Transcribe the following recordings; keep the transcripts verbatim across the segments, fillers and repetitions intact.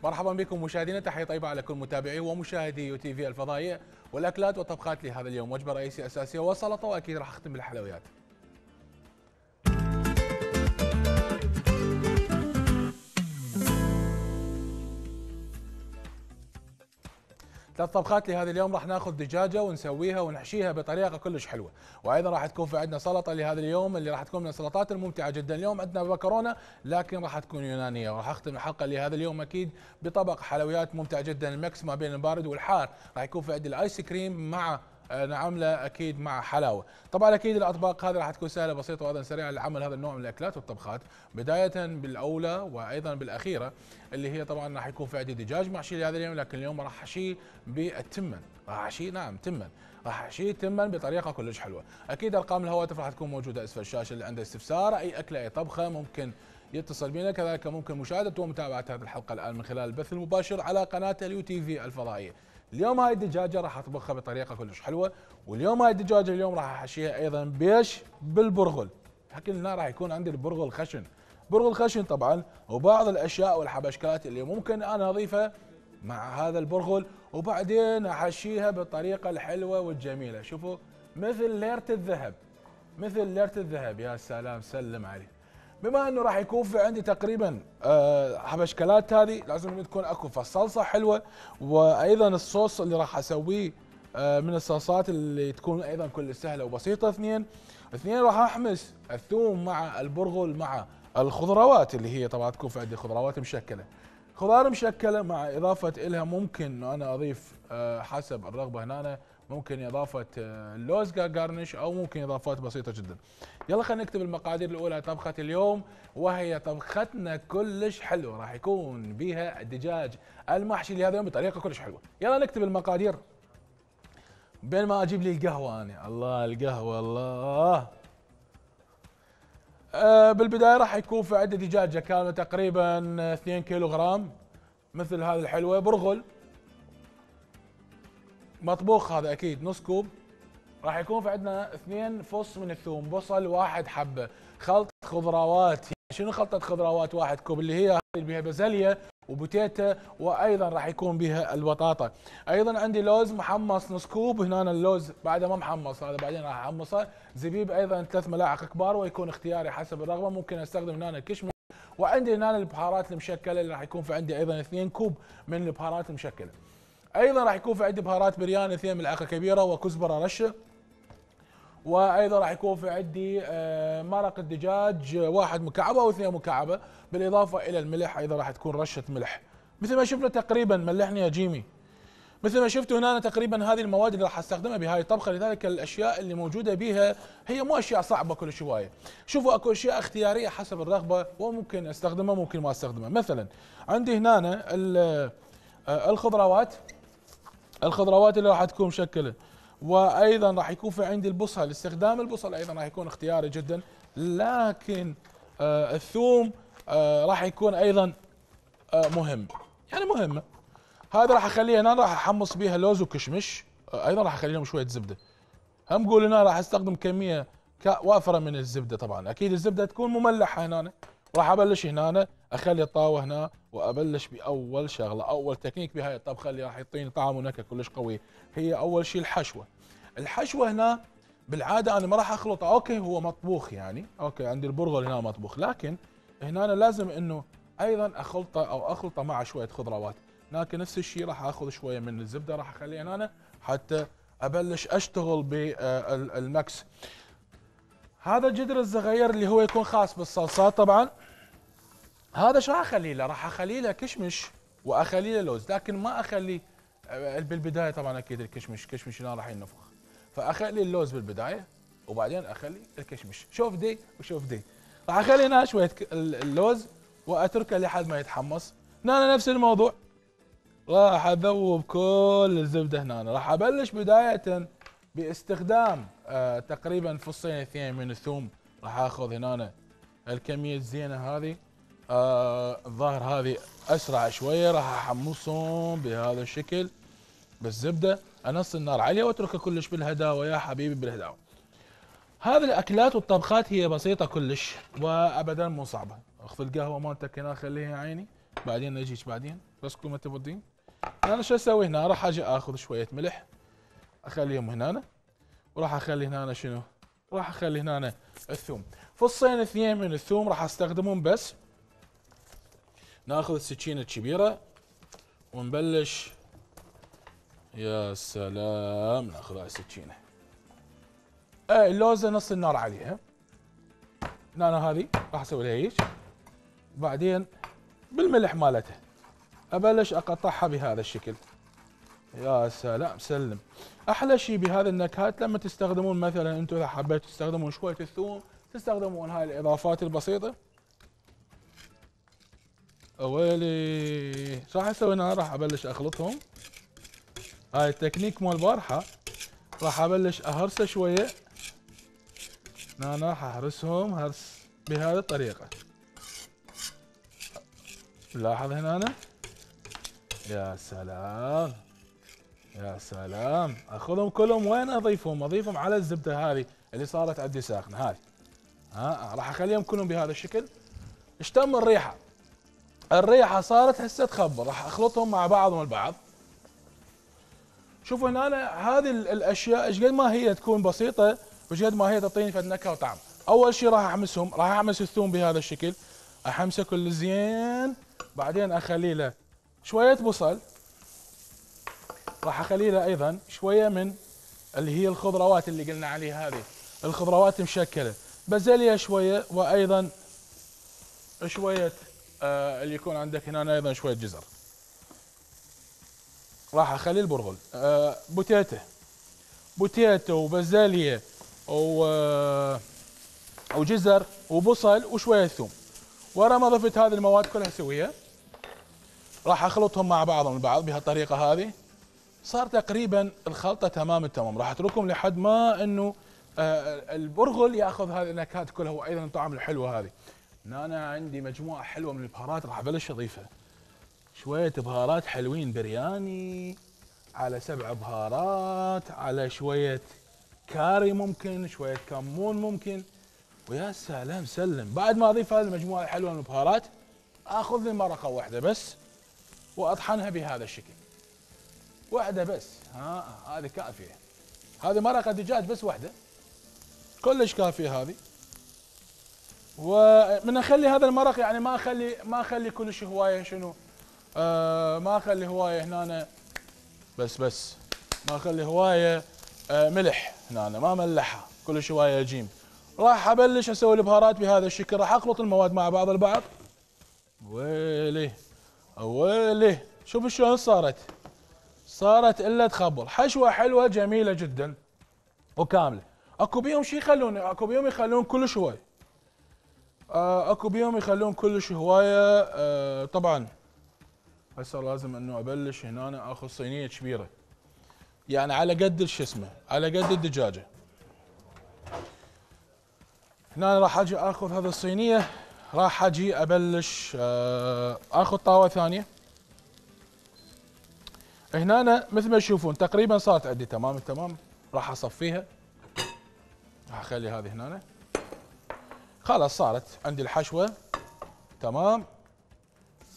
مرحبا بكم مشاهدينا، تحيه طيبه على كل متابعي ومشاهدي يو تي في الفضائيه والاكلات والطبخات لهذا اليوم. وجبه رئيسيه اساسيه وسلطه، واكيد راح اختم بالحلويات. ثلاث طبخات لهذا اليوم. راح ناخذ دجاجه ونسويها ونحشيها بطريقه كلش حلوه، وايضا راح تكون في عندنا سلطه لهذا اليوم اللي راح تكون من السلطات الممتعه جدا. اليوم عندنا مكرونه لكن راح تكون يونانيه، وراح اختم الحلقه لهذا اليوم اكيد بطبق حلويات ممتع جدا، المكس ما بين البارد والحار. راح يكون في عندي الايس كريم مع نعمله اكيد مع حلاوه. طبعا اكيد الاطباق هذه راح تكون سهله بسيطه وايضا سريعه لعمل هذا النوع من الاكلات والطبخات، بدايه بالاولى وايضا بالاخيره اللي هي طبعا راح يكون في عندي دجاج محشي لهذا اليوم، لكن اليوم راح احشيه بالتمن. راح احشيه نعم تمن، راح احشيه تمن بطريقه كلش حلوه. اكيد ارقام الهواتف راح تكون موجوده اسفل الشاشه، اللي عنده استفسار اي اكله اي طبخه ممكن يتصل بنا. كذلك ممكن مشاهده ومتابعه هذه الحلقه الان من خلال البث المباشر على قناه اليو تي في الفضائيه. اليوم هاي الدجاجه راح اطبخها بطريقه كلش حلوه، واليوم هاي الدجاجه اليوم راح احشيها ايضا بيش بالبرغل. حكي لنا راح يكون عندي البرغل خشن، برغل خشن طبعا، وبعض الاشياء والحبشكات اللي ممكن انا اضيفها مع هذا البرغل، وبعدين احشيها بالطريقه الحلوه والجميله. شوفوا مثل ليره الذهب، مثل ليره الذهب. يا سلام سلم عليه. بما انه راح يكون في عندي تقريبا أه حبشكلات، هذه لازم تكون اكو فالصلصه حلوه، وايضا الصوص اللي راح اسويه أه من الصلصات اللي تكون ايضا كل سهله وبسيطه. اثنين اثنين راح احمس الثوم مع البرغل مع الخضروات اللي هي طبعا تكون في عندي خضروات مشكله، خضار مشكله مع اضافه الها ممكن انه انا اضيف أه حسب الرغبه هنا، ممكن اضافه اللوز كجارنش او ممكن اضافات بسيطه جدا. يلا خلينا نكتب المقادير الاولى طبخه اليوم، وهي طبختنا كلش حلوه، راح يكون بها الدجاج المحشي لهذا اليوم بطريقه كلش حلوه. يلا نكتب المقادير بين ما اجيب لي القهوه. انا الله القهوه الله. أه بالبدايه راح يكون في عندي دجاجه كامله تقريبا اثنين كيلو غرام مثل هذه الحلوه، برغل مطبوخ هذا اكيد نص كوب، راح يكون في عندنا اثنين فص من الثوم، بصل واحد حبه، خلطه خضروات. شنو خلطه خضروات واحد كوب اللي هي اللي بها بازليا وبوتيتا، وايضا راح يكون بها البطاطا. ايضا عندي لوز محمص نص كوب، هنا اللوز بعد ما محمص هذا بعدين راح احمصه. زبيب ايضا ثلاث ملاعق كبار ويكون اختياري حسب الرغبه، ممكن استخدم هنا كشمش. وعندي هنا البهارات المشكله اللي راح يكون في عندي ايضا اثنين كوب من البهارات المشكله. ايضا راح يكون في عندي بهارات برياني اثنين ملعقه كبيره وكزبره رشه. وايضا راح يكون في عندي مرق الدجاج واحد مكعبه او اثنين مكعبه، بالاضافه الى الملح. ايضا راح تكون رشه ملح مثل ما شفنا تقريبا. ملحني يا جيمي. مثل ما شفتوا هنا تقريبا هذه المواد اللي راح استخدمها بهاي الطبخه، لذلك الاشياء اللي موجوده بها هي مو اشياء صعبه كل شويه. شوفوا اكو اشياء اختياريه حسب الرغبه وممكن استخدمها ممكن ما استخدمها. مثلا عندي هنا الخضروات، الخضروات اللي راح تكون مشكله، وايضا راح يكون في عندي البصل. استخدام البصل ايضا راح يكون اختياري جدا، لكن آه الثوم آه راح يكون ايضا آه مهم، يعني مهمه. هذا راح اخليه هنا، راح احمص بيها لوز وكشمش. آه ايضا راح اخلي لهم شويه زبده. هم قول هنا راح استخدم كميه وافره من الزبده. طبعا اكيد الزبده تكون مملحه هنا. راح ابلش هنا اخلي الطاوه هنا وابلش باول شغله، اول تكنيك بهاي الطبخه اللي راح يعطيني طعم ونكهه كلش قوي، هي اول شيء الحشوه. الحشوه هنا بالعاده انا ما راح اخلطه، اوكي هو مطبوخ يعني، اوكي عندي البرغل هنا مطبوخ، لكن هنا أنا لازم انه ايضا اخلطه او اخلطه مع شويه خضروات. لكن نفس الشيء راح اخذ شويه من الزبده راح اخليها هنا حتى ابلش اشتغل بالمكس. هذا الجدر الصغير اللي هو يكون خاص بالصلصات طبعا، هذا شو راح اخلي له؟ راح اخلي له كشمش واخلي له لوز، لكن ما اخلي بالبدايه. طبعا اكيد الكشمش كشمش هنا راح ينفخ، فاخلي اللوز بالبدايه وبعدين اخلي الكشمش. شوف دي وشوف دي. راح اخلي هنا شويه اللوز واتركه لحد ما يتحمص. هنا نفس الموضوع، راح اذوب كل الزبده هنا. راح ابلش بدايه باستخدام آه تقريبا فصين اثنين من الثوم. راح اخذ هنا الكميه الزينه هذه. آه الظاهر هذه اسرع شويه. راح احمصهم بهذا الشكل بالزبده، انص النار عليه واتركه كلش بالهداوه يا حبيبي بالهداوه. هذه الاكلات والطبخات هي بسيطه كلش وابدا مو صعبه. اخذ القهوه مالتك هنا خليها يا عيني، بعدين نجيك بعدين بس كل ما تفضين. انا شو اسوي هنا؟ راح اجي اخذ شويه ملح اخليهم هنا، وراح اخلي هنا شنو؟ راح اخلي هنا الثوم، فصين اثنين من الثوم راح استخدمهم بس. ناخذ السكينه الكبيره ونبلش. يا سلام، ناخذ هاي السكينه. اي اللوزه نص النار عليها. هنا هذه راح اسوي لها هيك، بعدين بالملح مالتها ابلش اقطعها بهذا الشكل. يا سلام سلم. احلى شيء بهذه النكهات لما تستخدمون مثلا انتم اذا حبيتوا تستخدمون شويه الثوم، تستخدمون هاي الاضافات البسيطه. اويلي شو راح اسوي هنا؟ راح ابلش اخلطهم. هاي التكنيك مال البارحه راح ابلش اهرسه شويه. هنا راح اهرسهم هرس بهذه الطريقه. لاحظ هنا أنا. يا سلام يا سلام. اخذهم كلهم وين اضيفهم؟ اضيفهم على الزبده هذه اللي صارت عندي ساخنه هذه. ها راح اخليهم كلهم بهذا الشكل. اشتم الريحه. الريحه صارت هسه تخبر. راح اخلطهم مع بعضهم البعض. شوفوا هنا أنا هذه الاشياء ايش قد ما هي تكون بسيطه وايش قد ما هي تعطيني فد نكهه وطعم. اول شيء راح احمسهم، راح احمس الثوم بهذا الشكل، احمسه كل زين. بعدين اخلي له شويه بصل، راح اخلي له ايضا شويه من اللي هي الخضروات اللي قلنا عليها هذه، الخضروات مشكله، بازليا شويه، وايضا شويه آه اللي يكون عندك هنا ايضا شويه جزر. راح اخلي البرغل آه بوتيته بوتيتو وبازليا و آه وجزر وبصل وشويه ثوم. ورا ما ضفت هذه المواد كلها اسويها، راح اخلطهم مع بعضهم البعض بهالطريقه هذه. صار تقريبا الخلطه تمام التمام. راح اتركهم لحد ما انه آه البرغل ياخذ هذه النكهات كلها وايضا الطعم الحلوه هذه. انا عندي مجموعه حلوه من البهارات راح ابلش اضيفها. شويه بهارات حلوين، برياني على سبع بهارات على شويه كاري ممكن، شويه كمون ممكن، ويا سلام سلم. بعد ما اضيف هذه المجموعه الحلوه من البهارات اخذ لي مرقه واحده بس واطحنها بهذا الشكل. واحده بس، ها هذه كافيه. هذه مرقه دجاج بس واحده كلش كافيه هذه. ومن اخلي هذا المرق يعني ما اخلي ما اخلي كلش هوايه شنو آه ما اخلي هوايه هنا بس بس ما اخلي هوايه آه ملح هنا، ما ملحها كلش هوايه جيم. راح ابلش اسوي البهارات بهذا الشكل. راح اخلط المواد مع بعض البعض. ويلي ويلي شوف شلون صارت. صارت الا تخبر. حشوه حلوه جميله جدا وكامله. اكو بيهم شي يخلون اكو بيهم يخلون كلش هوايه. آه اكو بيهم يخلون كلش هوايه. آه طبعا هسه لازم انه ابلش هنا أنا اخذ صينيه كبيره، يعني على قد شو اسمه على قد الدجاجه. هنا راح اجي اخذ هذه الصينيه، راح اجي ابلش آه اخذ طاوه ثانيه. هنا أنا مثل ما تشوفون تقريبا صارت عندي تمام التمام. راح اصفيها، راح اخلي هذه هنا. خلاص صارت عندي الحشوه تمام.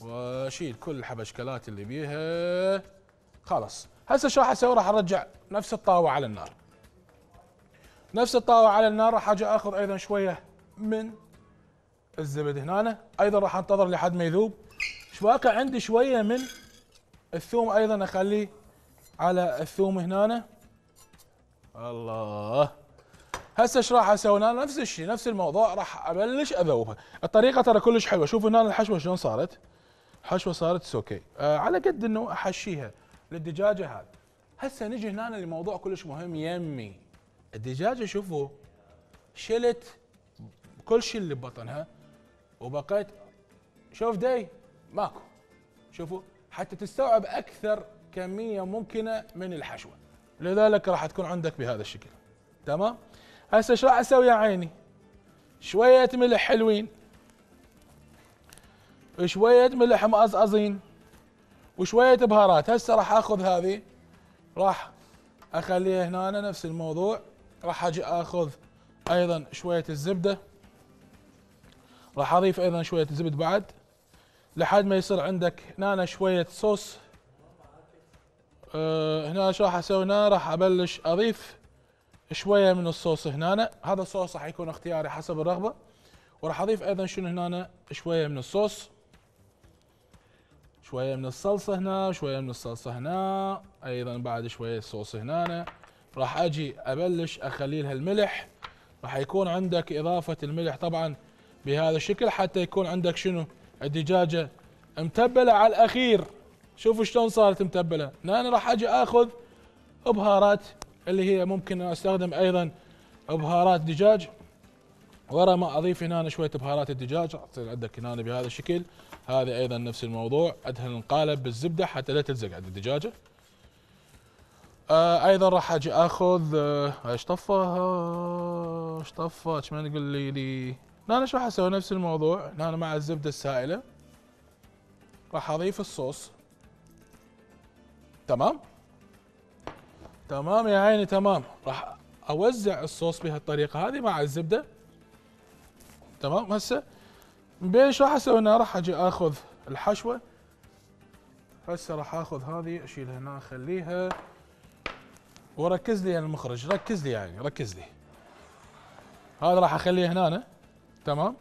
واشيل كل الحبشكلات اللي بيها. خلاص هسه شو راح اسوي؟ راح ارجع نفس الطاوه على النار. نفس الطاوه على النار راح اجي اخذ ايضا شويه من الزبد هنا. ايضا راح انتظر لحد ما يذوب. ايش باقي عندي؟ شويه من الثوم ايضا اخليه على الثوم هنا. الله. هسه ايش راح اسوي؟ هنا نفس الشيء نفس الموضوع. راح ابلش اذوبها. الطريقه ترى كلش حلوه. شوفوا هنا الحشوه شلون صارت. الحشوه صارت سوكي آه على قد انه احشيها للدجاجه هذه. هسه نجي هنا لموضوع كلش مهم يمي. الدجاجه شوفوا شلت كل شيء اللي ببطنها وبقيت. شوف دي ماكو. شوفوا حتى تستوعب اكثر كميه ممكنه من الحشوه، لذلك راح تكون عندك بهذا الشكل. تمام. هسه ايش راح اسوي يا عيني؟ شويه ملح حلوين، شويه ملح مقصقصين، وشويه بهارات. هسه راح اخذ هذه راح اخليها هنا أنا نفس الموضوع. راح اجي اخذ ايضا شويه الزبده، راح اضيف ايضا شويه زبد بعد لحد ما يصير عندك هنا شويه صوص. أه هنا شو راح اسوي؟ هنا راح ابلش اضيف شويه من الصوص هنا. هذا الصوص راح يكون اختياري حسب الرغبه. وراح اضيف ايضا شنو هنا؟ شويه من الصوص، شويه من الصلصه هنا، شويه من الصلصه هنا، ايضا بعد شويه صوص هنا. راح اجي ابلش اخلي لها الملح. راح يكون عندك اضافه الملح طبعا بهذا الشكل حتى يكون عندك شنو؟ الدجاجه متبله على الاخير. شوفوا شلون صارت متبله. هنا راح اجي اخذ بهارات اللي هي ممكن استخدم ايضا بهارات دجاج. ورا ما اضيف هنا شويه بهارات الدجاج تصير عندك هنا بهذا الشكل. هذه ايضا نفس الموضوع، ادهن القالب بالزبده حتى لا تلزق عند الدجاجه. آه ايضا راح اجي اخذ آه، ايش طفى ايش طفى ايش ما نقول لي لي انا شو راح اسوي؟ نفس الموضوع. هنا مع الزبده السائله راح اضيف الصوص. تمام تمام يا عيني تمام. راح اوزع الصوص بهالطريقه هذه مع الزبده. تمام. هسه من بين ايش راح اسوي هنا؟ راح اجي اخذ الحشوه. هسه راح اخذ هذه اشيلها هنا اخليها. وركز لي يا المخرج، ركز لي يعني ركز لي. هذا راح اخليه هنا. تمام.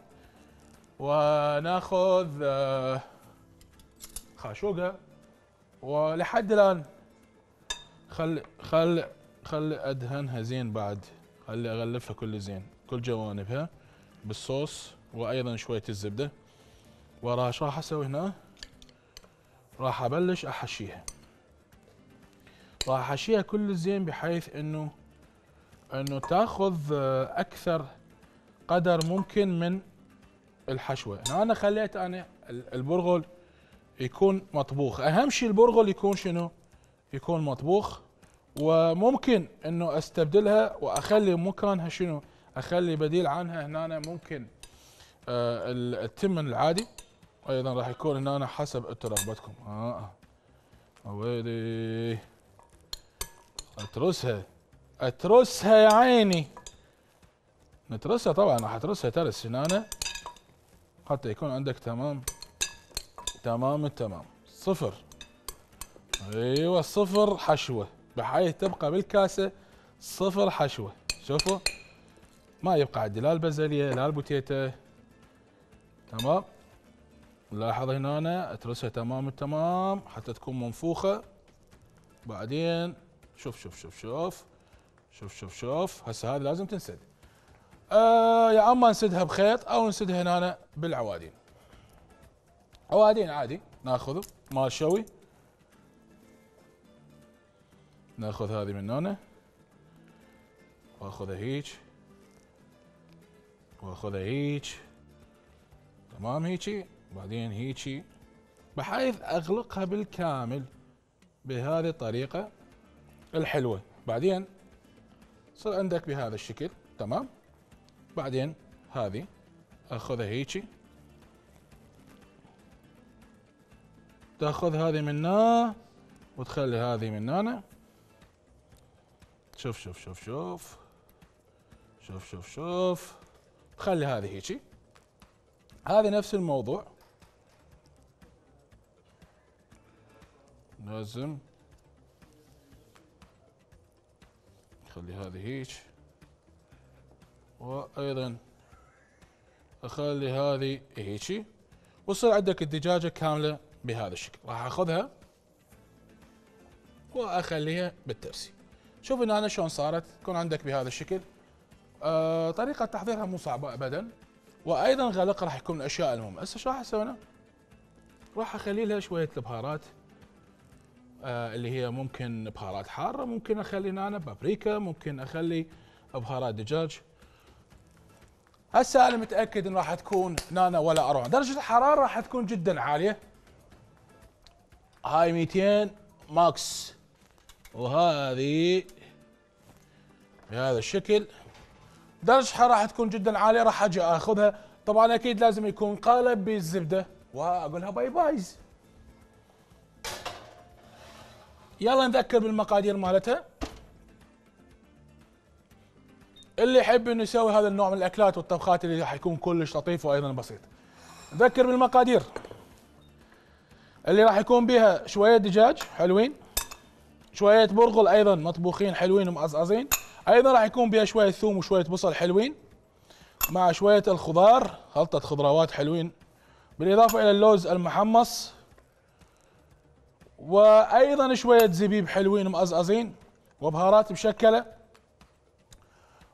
وناخذ آه خاشوقه. ولحد الان خل خل خل ادهنها زين بعد. خلي اغلفها كل زين كل جوانبها بالصوص وايضا شويه الزبده. وراها ايش راح اسوي هنا؟ راح ابلش احشيها. راح احشيها كل زين بحيث انه انه تاخذ اكثر قدر ممكن من الحشوه. هنا انا خليت انا البرغل يكون مطبوخ. اهم شيء البرغل يكون شنو؟ يكون مطبوخ. وممكن انه استبدلها واخلي مكانها شنو؟ اخلي بديل عنها هنا ممكن آه التمن العادي. ايضا راح يكون هنا حسب انتم رغبتكم. اه ويلي اترسها اترسها يا عيني. نترسها طبعا. راح اترسها ترس هنا حتى يكون عندك تمام تمام التمام. صفر. ايوه صفر حشوه بحيث تبقى بالكاسه صفر حشوه. شوفوا ما يبقى عندي لا البازليه لا البوتيتا. تمام. لاحظ هنا أنا اترسها تمام التمام حتى تكون منفوخه. بعدين شوف شوف شوف شوف شوف شوف شوف. هسه هذه لازم تنسد. آه يا اما نسدها بخيط او نسدها هنا بالعوادين. عوادين عادي ناخذه مال شوي. ناخذ هذه من هنا واخذها هيج واخذها هيج. تمام هيجي. بعدين هيجي بحيث اغلقها بالكامل بهذه الطريقة الحلوة. بعدين صار عندك بهذا الشكل. تمام. بعدين هذه اخذها هيجي تاخذ هذه من هنا وتخلي هذه من هنا. شوف شوف شوف شوف شوف شوف شوف. تخلي هذه هيجي. هذه نفس الموضوع. لازم خلي هذه هيك وايضا اخلي هذه هيجي. وصير عندك الدجاجه كامله بهذا الشكل. راح اخذها واخليها بالترسي. شوف هنا أنا شلون صارت. تكون عندك بهذا الشكل. آه طريقه تحضيرها مو صعبه ابدا. وايضا غلق راح يكون من الاشياء المهمه. هسه شو راح اسوي انا؟ راح اخلي لها شويه البهارات آه اللي هي ممكن بهارات حاره. ممكن اخلي هنا بابريكا. ممكن اخلي بهارات دجاج. هسه انا متاكد ان راح تكون هنا ولا اروع. درجه الحراره راح تكون جدا عاليه. هاي مئتين ماكس، وهذه بهذا الشكل. درجتها راح تكون جدا عاليه، راح اجي اخذها. طبعا اكيد لازم يكون قالب بالزبده، واقولها باي بايز. يلا نذكر بالمقادير مالتها. اللي يحب انه يسوي هذا النوع من الاكلات والطبخات اللي راح يكون كلش لطيف وايضا بسيط، نذكر بالمقادير اللي راح يكون بها شويه دجاج حلوين، شويه برغل ايضا مطبوخين حلوين ومقصقصين، ايضا راح يكون بها شويه ثوم وشويه بصل حلوين، مع شويه الخضار، خلطه خضروات حلوين، بالاضافه الى اللوز المحمص، وايضا شويه زبيب حلوين ومقصقصين، وبهارات مشكله،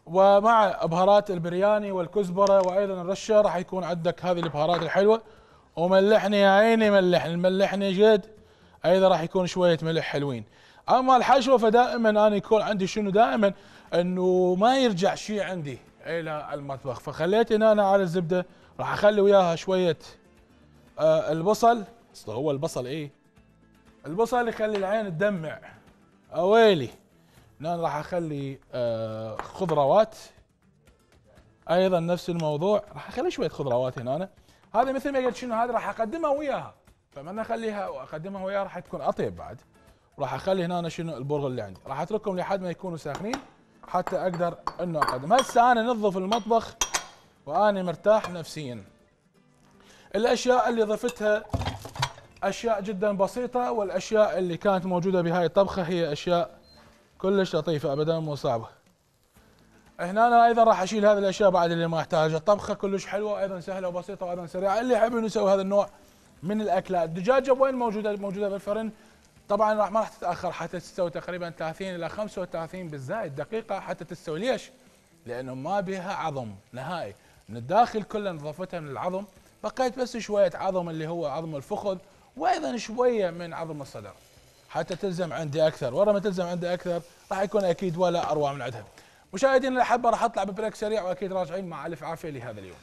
ومع بهارات البرياني والكزبره، وايضا الرشه راح يكون عندك هذه البهارات الحلوه. وملحني يا عيني، ملحني ملحني جد، ايضا راح يكون شويه ملح حلوين. اما الحشوه فدائما انا يكون عندي شنو دائما انه ما يرجع شيء عندي الى المطبخ، فخليت هنا أنا على الزبده راح اخلي وياها شويه آه البصل. اصل هو البصل ايه؟ البصل يخلي العين تدمع. اويلي هنا راح اخلي آه خضروات، ايضا نفس الموضوع راح اخلي شويه خضروات هنا أنا. هذه مثل ما قلت شنو، هذه راح اقدمها وياها، فما انا اخليها واقدمها وياها راح تكون اطيب بعد. راح اخلي هنا أنا شنو البرغل اللي عندي، راح اتركهم لحد ما يكونوا ساخنين حتى اقدر انه اقدم. هسه انا نظف المطبخ واني مرتاح نفسيا. الاشياء اللي ضفتها اشياء جدا بسيطه، والاشياء اللي كانت موجوده بهاي الطبخه هي اشياء كلش لطيفه ابدا مو صعبه. هنا انا ايضا راح اشيل هذه الاشياء بعد اللي ما احتاجها. الطبخه كلش حلوه، ايضا سهله وبسيطه وايضا سريعه. اللي يحب انه يسوي هذا النوع من الاكلات. الدجاجه وين موجوده؟ موجوده بالفرن. طبعا راح ما راح تتاخر حتى تستوي تقريبا ثلاثين الى خمسة وثلاثين بالزائد دقيقه حتى تستوي. ليش؟ لانه ما بها عظم نهائي، من الداخل كله نظفتها من العظم، بقيت بس شويه عظم اللي هو عظم الفخذ، وايضا شويه من عظم الصدر حتى تلزم عندي اكثر. ورا ما تلزم عندي اكثر راح يكون اكيد ولا اروع من عندها. مشاهدينا الاحبه راح اطلع ببريك سريع واكيد راجعين مع الف عافيه لهذا اليوم.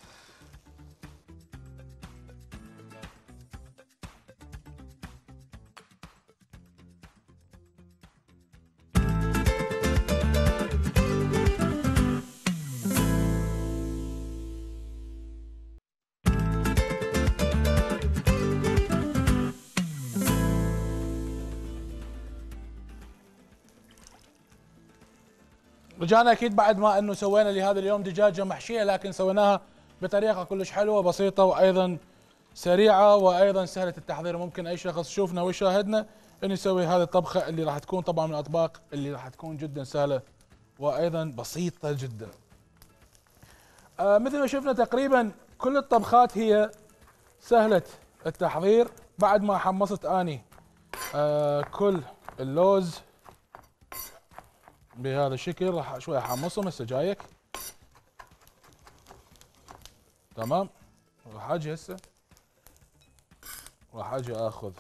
رجعنا اكيد بعد ما انه سوينا لهذا اليوم دجاجه محشيه، لكن سويناها بطريقه كلش حلوه بسيطه وايضا سريعه وايضا سهله التحضير. ممكن اي شخص يشوفنا ويشاهدنا انه يسوي هذه الطبخه اللي راح تكون طبعا من الاطباق اللي راح تكون جدا سهله وايضا بسيطه جدا. آه مثل ما شفنا تقريبا كل الطبخات هي سهله التحضير. بعد ما حمصت اني آه كل اللوز بهذا الشكل راح شوي احمصهم هسه جايك. تمام. راح اجي هسه راح اجي اخذ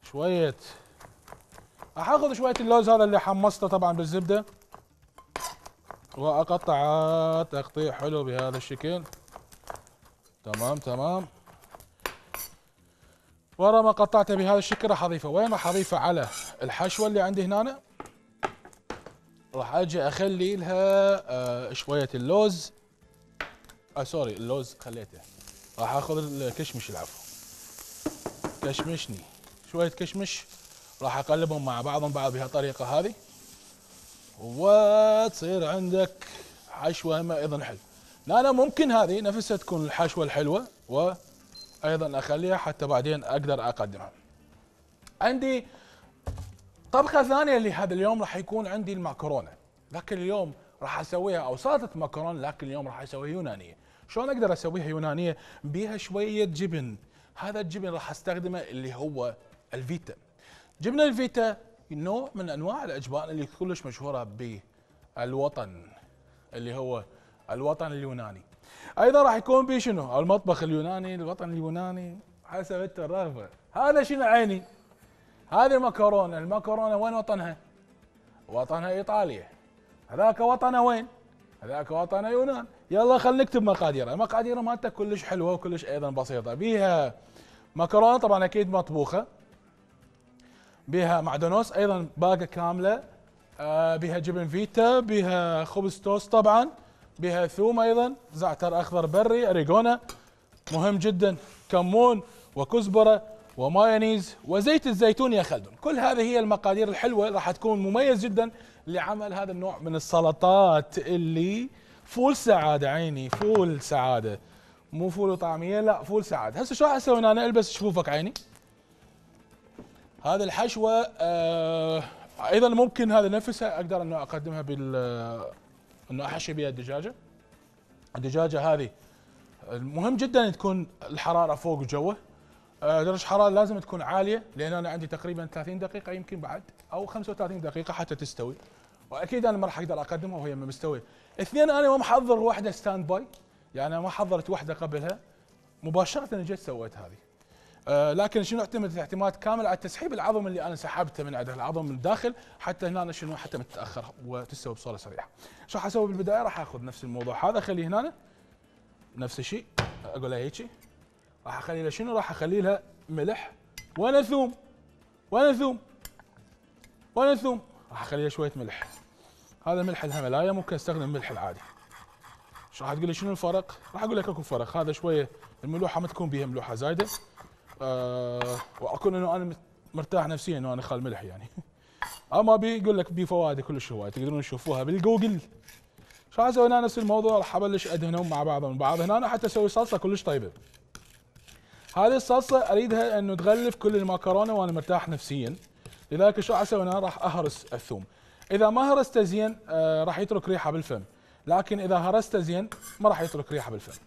شويه، راح اخذ شويه اللوز هذا اللي حمصته طبعا بالزبده، واقطعه تقطيع حلو بهذا الشكل. تمام تمام. ورا ما قطعته بهذا الشكل راح اضيفه وين؟ راح اضيفه على الحشوه اللي عندي هنا. راح اجي اخلي لها آه شويه اللوز، آه سوري اللوز خليته. راح اخذ الكشمش، العفو كشمشني، شويه كشمش راح اقلبهم مع بعضهم بعض بهالطريقه هذه، وتصير عندك حشوه ما ايضا حلو. لا لا ممكن هذه نفسها تكون الحشوه الحلوه، وايضا اخليها حتى بعدين اقدر اقدمها. عندي طبخه ثانيه لهذا اليوم راح يكون عندي المعكرونه، لكن اليوم راح اسويها او سلطه مكرونه، لكن اليوم راح اسويها يونانيه. شلون اقدر اسويها يونانيه؟ بيها شويه جبن. هذا الجبن راح استخدمه اللي هو الفيتا. جبنه الفيتا نوع من انواع الاجبان اللي كلش مشهوره بالوطن اللي هو الوطن اليوناني. ايضا راح يكون بي شنو؟ المطبخ اليوناني، الوطن اليوناني حسب انت الرغبه. هذا شنو عيني؟ هذه مكرونه، المكرونه وين وطنها؟ وطنها ايطاليا. هذاك وطنه وين؟ هذاك وطنه يونان. يلا خلينا نكتب مقاديرها. المقادير مالتها كلش حلوه وكلش ايضا بسيطه. بيها مكرونه طبعا اكيد مطبوخه، بها معدنوس ايضا باقه كامله، آه بها جبن فيتا، بها خبز توست طبعا، بها ثوم ايضا، زعتر اخضر بري، اريجونا مهم جدا، كمون وكزبره ومايونيز وزيت الزيتون يا خلدون. كل هذه هي المقادير الحلوه راح تكون مميز جدا لعمل هذا النوع من السلطات اللي فول سعاده. عيني فول سعاده، مو فول وطعميه، لا فول سعاده. هسه شو راح اسوي انا؟ البس شفوفك عيني. هذه الحشوه آه ايضا ممكن هذا نفسها اقدر انه اقدمها بال انه احشي بها الدجاجه. الدجاجه هذه مهم جدا ان تكون الحراره فوق جوه، آه درجه الحراره لازم تكون عاليه، لان انا عندي تقريبا ثلاثين دقيقه يمكن بعد او خمسة وثلاثين دقيقه حتى تستوي، واكيد انا ما راح اقدر اقدمها وهي ما مستويه. اثنين، انا ما محضر واحده ستاند باي، يعني انا ما حضرت واحده قبلها، مباشره جيت سويت هذه. آه لكن شنو اعتمد اعتماد كامل على تسحيب العظم اللي انا سحبته من عنده، العظم من الداخل، حتى هنا شنو حتى متاخر وتستوي بصوره سريعه. شو راح اسوي بالبدايه؟ راح اخذ نفس الموضوع هذا اخليه هنا نفس الشيء، اقول لها هيجي، راح اخلي لها شنو؟ راح اخلي لها ملح وانا ثوم وانا ثوم وانا ثوم، راح اخلي لها شويه ملح. هذا ملح الهيمالايا، ممكن استخدم الملح العادي. شو راح تقول لي شنو الفرق؟ راح اقول لك اكو فرق، هذا شويه الملوحه ما تكون بها ملوحه زايده، أه واكون انه انا مرتاح نفسيا انه انا اخل ملح يعني. اما بيقول لك بي فوائد كلش هوايه، تقدرون تشوفوها بالجوجل. شو راح اسوي انا؟ نفس الموضوع، راح ابلش ادهنهم مع بعضهم البعض هنا حتى اسوي صلصه كلش طيبه. هذه الصلصه اريدها انه تغلف كل المكرونه وانا مرتاح نفسيا، لذلك شو راح اسوي انا؟ راح اهرس الثوم. اذا ما هرسته زين آه راح يترك ريحه بالفم، لكن اذا هرسته زين ما راح يترك ريحه بالفم.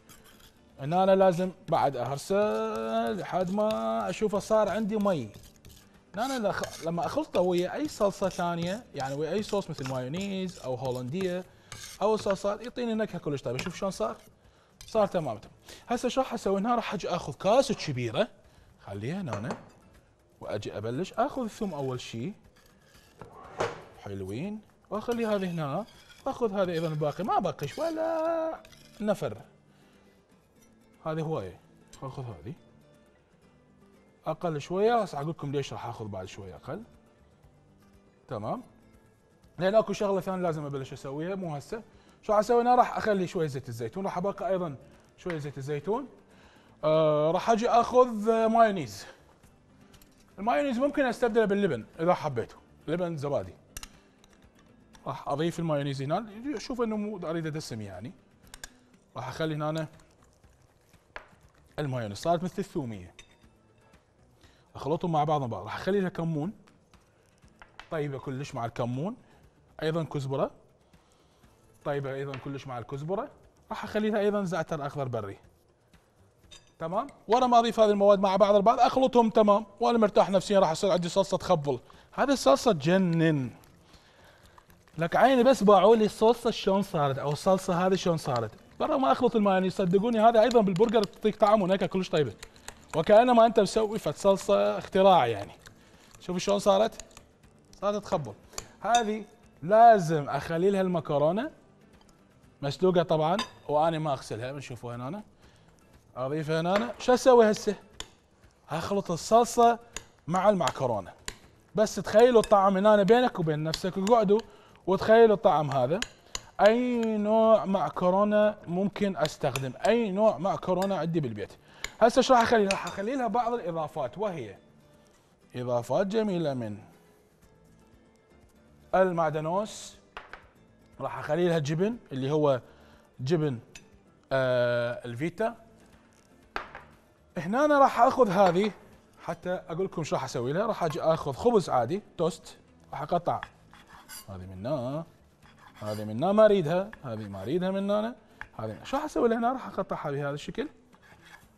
هنا انا لازم بعد اهرسه لحد ما اشوفه صار عندي مي. انا لما اخلطه ويا اي صلصه ثانيه، يعني ويا اي صوص مثل مايونيز او هولنديه او صلصات، يعطيني نكهه كلش طيبه. شوف شلون صار؟ صار تمام. هسه شو راح اسوي هنا؟ راح اجي اخذ كاسه كبيره، خليها هنا واجي ابلش اخذ الثوم اول شيء، حلوين، واخلي هذه هنا، واخذ هذه ايضا الباقي، ما بقيش ولا نفر، هذه هوايه، اخذ هذه اقل شويه. هسه اقول لكم ليش راح اخذ بعد شويه اقل. تمام، لان اكو شغله ثانيه لازم ابلش اسويها مو هسه. شو راح اسوي انا؟ راح اخلي شويه زيت الزيتون، راح ابقى ايضا شويه زيت الزيتون. آه راح اجي اخذ مايونيز. المايونيز ممكن استبدله باللبن اذا حبيته، لبن زبادي. راح اضيف المايونيز هنا، اشوف انه مو اريد ادسم يعني. راح اخلي هنا المايونيز، صارت مثل الثوميه، اخلطهم مع بعض بعض. راح اخلي لها كمون، طيبه كلش مع الكمون، ايضا كزبره طيبه ايضا كلش مع الكزبره. راح اخلي لها ايضا زعتر اخضر بري. تمام، ورا ما اضيف هذه المواد مع بعض البعض اخلطهم تمام، وانا مرتاح نفسيا. راح يصير عندي صلصه تخبل. هذه الصلصه تجنن لك عيني. بس باعوا لي الصلصه شلون صارت او الصلصه هذه شلون صارت، برا ما اخلط المايونيز. صدقوني هذا ايضا بالبرجر تعطيك طعم ونكهه كلش طيبه، وكانما انت مسوي فد صلصه اختراع يعني. شوف شلون صارت، صارت تخبل. هذه لازم اخلي لها المكرونه مسلوقه طبعا، واني ما اغسلها، بنشوفوا هنا أنا. اضيفها هنا. شو اسوي هسه؟ اخلط الصلصه مع المعكرونه. بس تخيلوا الطعم هنا بينك وبين نفسك، وقعدوا وتخيلوا الطعم هذا. اي نوع معكرونه ممكن استخدم، اي نوع معكرونه عندي بالبيت. هسه شو راح اخلي؟ راح اخلي لها بعض الاضافات، وهي اضافات جميله من المعدنوس. راح اخلي لها جبن اللي هو جبن آه الفيتا. هنا أنا راح اخذ هذه حتى اقول لكم شو راح اسوي لها. راح اجي اخذ خبز عادي توست، راح اقطع هذه من هنا، هذه من هنا ما اريدها، هذه ما اريدها من هنا، هذه. شو راح اسوي لها هنا؟ راح اقطعها بهذا الشكل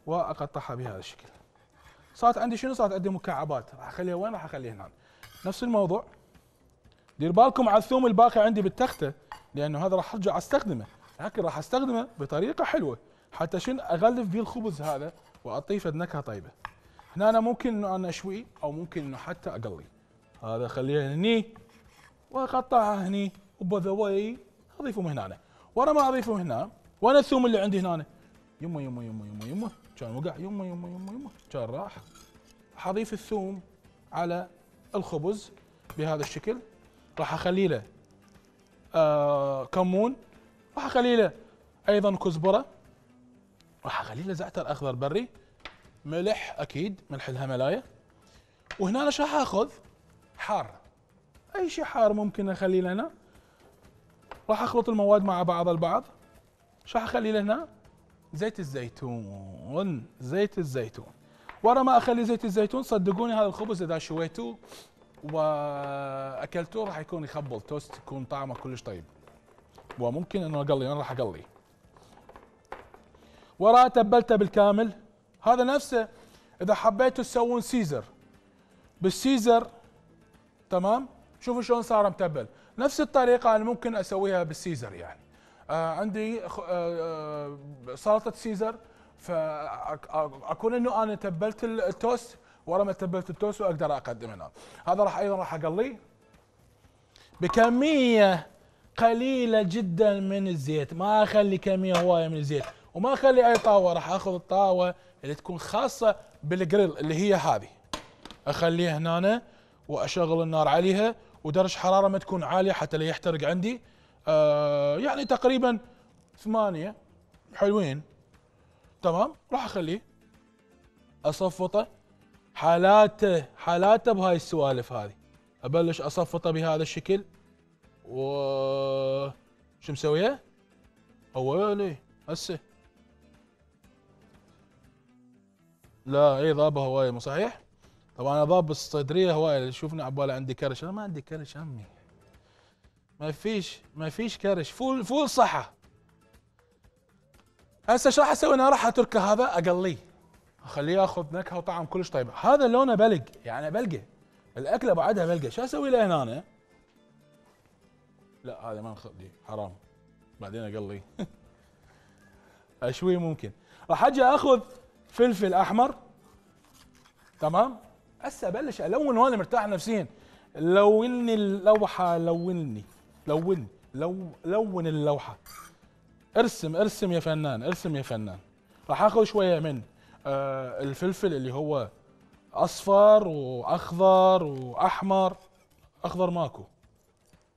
واقطعها بهذا الشكل. صارت عندي شنو؟ صارت عندي مكعبات. راح اخليها وين؟ راح اخليها هنا. نفس الموضوع. دير بالكم على الثوم الباقي عندي بالتخته، لانه هذا راح ارجع استخدمه، لكن راح استخدمه بطريقه حلوه حتى شنو؟ اغلف به الخبز هذا واعطيه نكهه طيبه. هنا أنا ممكن انه انا اشويه او ممكن انه حتى اقلي. هذا اخليها هني واقطعها هني، وبذا واي اضيفه من هنا. ورا ما اضيفه هنا، وانا الثوم اللي عندي هنا يمه يمه يمه يمه يمه كان وقع، يمه يمه يمه يمه كان راح. راح اضيف الثوم على الخبز بهذا الشكل، راح اخلي له آه كمون، راح اخلي له ايضا كزبره، راح اخلي له زعتر اخضر بري، ملح اكيد ملح الهملايه، وهنا انا راح اخذ حار، اي شيء حار ممكن اخليه له هنا. راح اخلط المواد مع بعض البعض. راح اخلي له هنا زيت الزيتون، زيت الزيتون. ورا ما اخلي زيت الزيتون صدقوني هذا الخبز اذا شويتوه واكلتوه راح يكون يخبل توست، يكون طعمه كلش طيب. وممكن انه اقلي، انا راح اقلي. وراه تبلته بالكامل. هذا نفسه اذا حبيتوا تسوون سيزر بالسيزر، تمام؟ شوفوا شلون صار متبل، نفس الطريقه انا ممكن اسويها بالسيزر يعني. آه عندي آه آه سلطه سيزر، فاكون انه انا تبلت التوست، ورا ما تبلت التوست واقدر اقدم هنا. هذا راح ايضا راح اقليه بكميه قليله جدا من الزيت، ما اخلي كميه هوايه من الزيت، وما اخلي اي طاوه. راح اخذ الطاوه اللي تكون خاصه بالجريل اللي هي هذه، اخليها هنا واشغل النار عليها، ودرجه حراره ما تكون عاليه حتى لا يحترق عندي. آه يعني تقريبا ثمانية حلوين، تمام. راح اخليه اصفطه، حالاته حالاته بهاي السوالف هذه. ابلش اصفطه بهذا الشكل، و شو مسويه؟ اويلي هسه لا اي ضابه هوايه مو صحيح؟ طبعا انا ضاب بالصدريه هوايه، اللي يشوفني عباله عندي كرش، انا ما عندي كرش عمي. ما فيش ما فيش كرش، فول فول صحه. هسه شو راح اسوي؟ انا راح اتركه هذا اقليه، اخليه ياخذ نكهه وطعم كلش طيب. هذا لونه بلق يعني بلقه، الاكله بعدها بلقه. شو اسوي له هنا أنا؟ لا هذا ما نخليه حرام، بعدين اقليه اشوي ممكن. راح اجي اخذ فلفل احمر، تمام. هسه ابلش الون وانا مرتاح نفسيا. لوني اللوحه، لوني لوني لو لون اللوحه، ارسم ارسم يا فنان، ارسم يا فنان. راح اخذ شويه من آه الفلفل اللي هو اصفر واخضر واحمر. اخضر ماكو،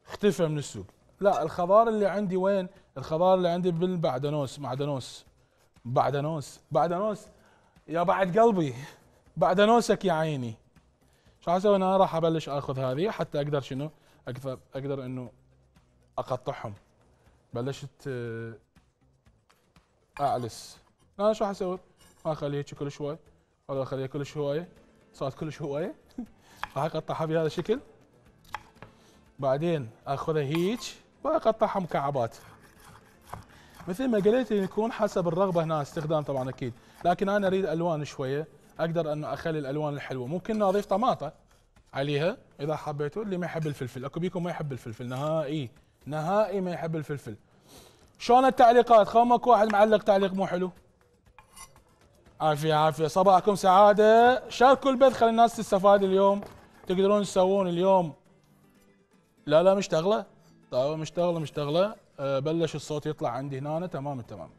اختفى من السوق. لا الخضار اللي عندي وين؟ الخضار اللي عندي بالبعدنوس، معدنوس بعدنوس بعدنوس يا بعد قلبي، بعدنوسك يا عيني. شو اسوي انا؟ راح ابلش اخذ هذه حتى اقدر شنو؟ اقدر اقدر انه اقطعهم. بلشت اعلس. انا شو اسوي؟ ما اخليه هيك كل شوي، ولا اخليه كل شويه، صارت كل شويه راح اقطعها بهذا الشكل. بعدين اخذها هيك واقطعها مكعبات مثل ما قلت، يكون حسب الرغبه هنا استخدام طبعا اكيد، لكن انا اريد الوان شويه، اقدر انه اخلي الالوان الحلوه. ممكن اضيف طماطه عليها اذا حبيتوا، اللي ما يحب الفلفل. اكو بيكم ما يحب الفلفل نهائي، نهائي ما يحب الفلفل. شلون التعليقات؟ خو ماكو واحد معلق تعليق مو حلو. عافيه عافيه، صباحكم سعاده. شاركوا البث خلي الناس تستفاد اليوم. تقدرون تسوون اليوم. لا لا مشتغله، طيب مشتغله مشتغله. أه بلش الصوت يطلع عندي هنا، تمام التمام،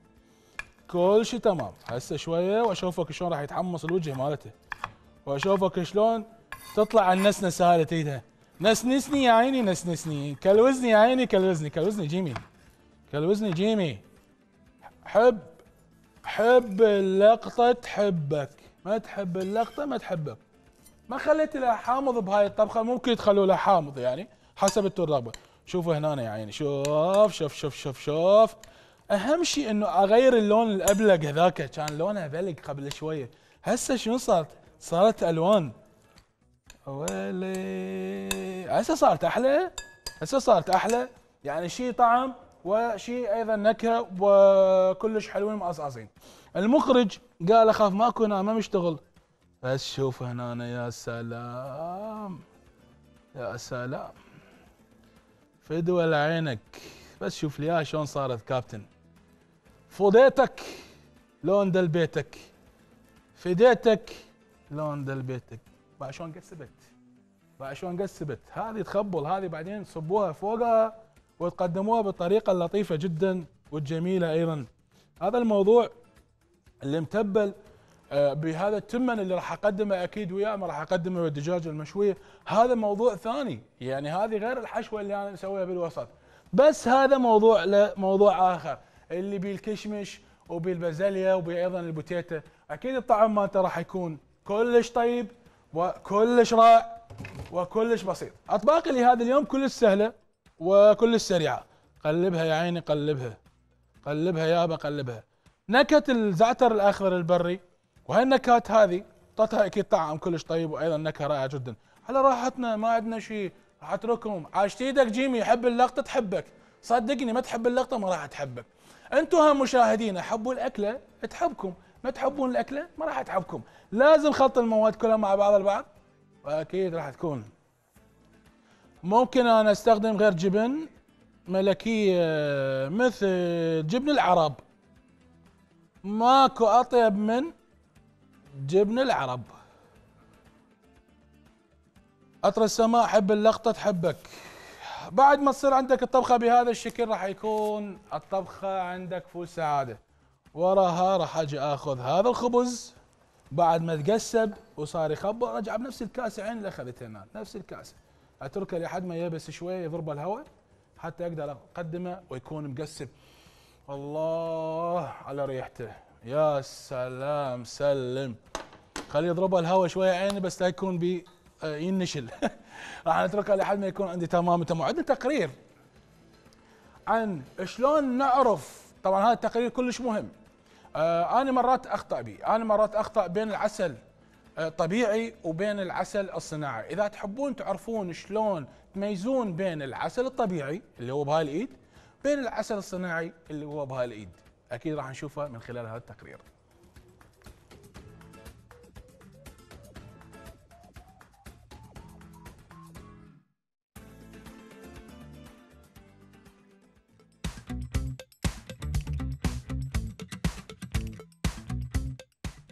كل شيء تمام. هسه شويه واشوفك شلون راح يتحمص الوجه مالته، واشوفك شلون تطلع النسنسه هذه تريدها. نسنسني يا عيني، نسنسني، كلوزني يا عيني، كلوزني كلوزني جيمي، كلوزني جيمي. حب حب اللقطه تحبك، ما تحب اللقطه ما تحبك. ما خليت لها حامض بهاي الطبخه، ممكن تخلوا لها حامض يعني حسب انتم الرغبه. شوفوا هنا يا عيني، شوف شوف شوف شوف شوف. اهم شيء انه اغير اللون الابلق هذاك، كان لونها بلق قبل شويه، هسه شنو صارت؟ صارت الوان. ويلي هسه صارت احلى، هسه صارت احلى، يعني شيء طعم وشيء ايضا نكهه وكلش حلوين مقصقصين. المخرج قال اخاف ماكو هنا ما مشتغل، بس شوف هنا يا سلام يا سلام، فدوى لعينك. بس شوف لي شلون صارت كابتن. فضيتك لون دل بيتك، فديتك لون دل بيتك. بقى شلون قسبت، بقى شلون قسبت. هذه تخبل، هذه بعدين تصبوها فوقها وتقدموها بالطريقه اللطيفه جدا والجميله ايضا. هذا الموضوع اللي متبل آه بهذا التمن اللي راح اقدمه اكيد وياه، ما راح اقدمه بالدجاجه المشويه، هذا موضوع ثاني، يعني هذه غير الحشوه اللي انا مسويها بالوسط. بس هذا موضوع له موضوع اخر، اللي بالكشمش وبالبازليا وبايضا البوتيتا، اكيد الطعم مالته راح يكون كلش طيب وكلش رائع وكلش بسيط. اطباقي لهذا اليوم كلش سهله وكلش سريعه. قلبها يا عيني، قلبها قلبها يابا قلبها. نكهه الزعتر الاخضر البري وهي النكهات هذه اعطتها اكيد طعم كلش طيب وايضا نكهه رائعه جدا. على راحتنا ما عندنا شيء، راح اتركهم. عاشت ايدك جيمي، يحب اللقطه تحبك، صدقني ما تحب اللقطه ما راح تحبك. انتم هم مشاهدين حبوا الاكله تحبكم، ما تحبون الاكله ما راح تحبكم. لازم خلط المواد كلها مع بعض البعض، واكيد راح تكون. ممكن انا استخدم غير جبن ملكيه مثل جبن العرب، ماكو اطيب من جبن العرب. عطر السماء حب اللقطه تحبك. بعد ما تصير عندك الطبخه بهذا الشكل راح يكون الطبخه عندك فول سعاده. وراها راح اجي اخذ هذا الخبز بعد ما تقسب وصار يخبر، ارجع بنفس الكاسه عين اللي اخذتها هنا، نفس الكاسه اتركه لحد ما يبس شويه يضرب الهواء حتى اقدر اقدمه ويكون مقسب. الله على ريحته، يا سلام سلم. خليه يضربه الهواء شويه عيني بس لا يكون بي ينشل. راح نتركه لحد ما يكون عندي تمام تمام. عندنا تقرير عن شلون نعرف، طبعا هذا التقرير كلش مهم. آه انا مرات اخطا به، انا مرات اخطا بين العسل الطبيعي وبين العسل الصناعي. اذا تحبون تعرفون شلون تميزون بين العسل الطبيعي اللي هو بهاي الايد بين العسل الصناعي اللي هو بهاي الايد، اكيد راح نشوفه من خلال هذا التقرير.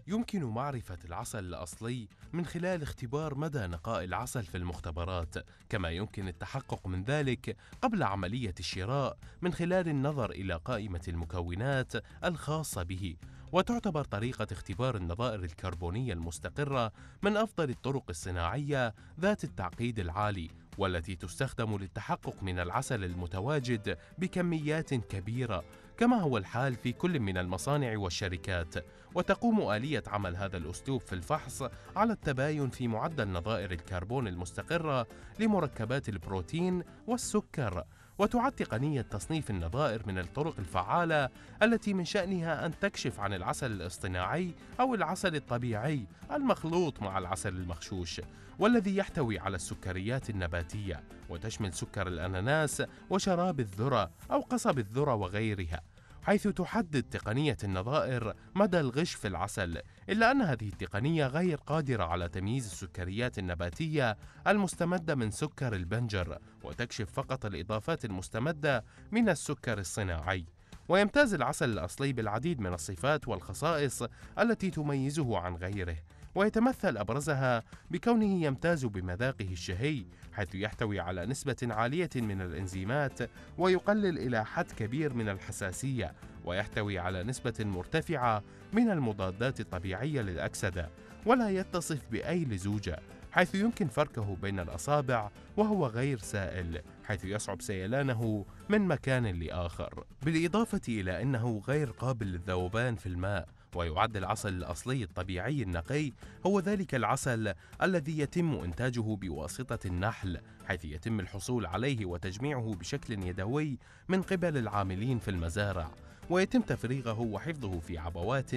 يمكن معرفة العسل الأصلي من خلال اختبار مدى نقاء العسل في المختبرات، كما يمكن التحقق من ذلك قبل عملية الشراء من خلال النظر إلى قائمة المكونات الخاصة به. وتعتبر طريقة اختبار النظائر الكربونية المستقرة من أفضل الطرق الصناعية ذات التعقيد العالي، والتي تستخدم للتحقق من العسل المتواجد بكميات كبيرة، كما هو الحال في كل من المصانع والشركات. وتقوم آلية عمل هذا الأسلوب في الفحص على التباين في معدل نظائر الكربون المستقرة لمركبات البروتين والسكر. وتعد تقنية تصنيف النظائر من الطرق الفعالة التي من شأنها أن تكشف عن العسل الاصطناعي أو العسل الطبيعي المخلوط مع العسل المغشوش، والذي يحتوي على السكريات النباتية، وتشمل سكر الأناناس وشراب الذرة أو قصب الذرة وغيرها، حيث تحدد تقنية النظائر مدى الغش في العسل. إلا أن هذه التقنية غير قادرة على تمييز السكريات النباتية المستمدة من سكر البنجر، وتكشف فقط الإضافات المستمدة من السكر الصناعي. ويمتاز العسل الأصلي بالعديد من الصفات والخصائص التي تميزه عن غيره، ويتمثل أبرزها بكونه يمتاز بمذاقه الشهي، حيث يحتوي على نسبة عالية من الإنزيمات ويقلل إلى حد كبير من الحساسية، ويحتوي على نسبة مرتفعة من المضادات الطبيعية للأكسدة، ولا يتصف بأي لزوجة، حيث يمكن فركه بين الأصابع وهو غير سائل، حيث يصعب سيلانه من مكان لآخر. بالإضافة إلى أنه غير قابل للذوبان في الماء. ويعد العسل الأصلي الطبيعي النقي هو ذلك العسل الذي يتم إنتاجه بواسطة النحل، حيث يتم الحصول عليه وتجميعه بشكل يدوي من قبل العاملين في المزارع، ويتم تفريغه وحفظه في عبوات